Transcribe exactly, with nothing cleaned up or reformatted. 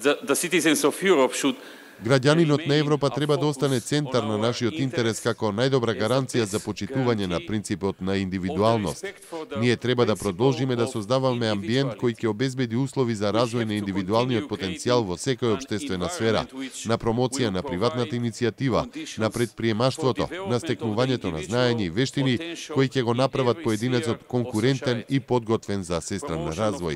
the citizens of Europe should Граѓанинот на Европа треба да остане центар на нашиот интерес како најдобра гаранција за почитување на принципот на индивидуалност. Ние треба да продолжиме да создаваме амбиент кој ќе обезбеди услови за развој на индивидуалниот потенцијал во секоја општествена сфера, на промоција на приватната иницијатива, на предприемаштвото, на стекнувањето на знаење и вештини кои ќе го направат поединецот конкурентен и подготвен за сестран на развој.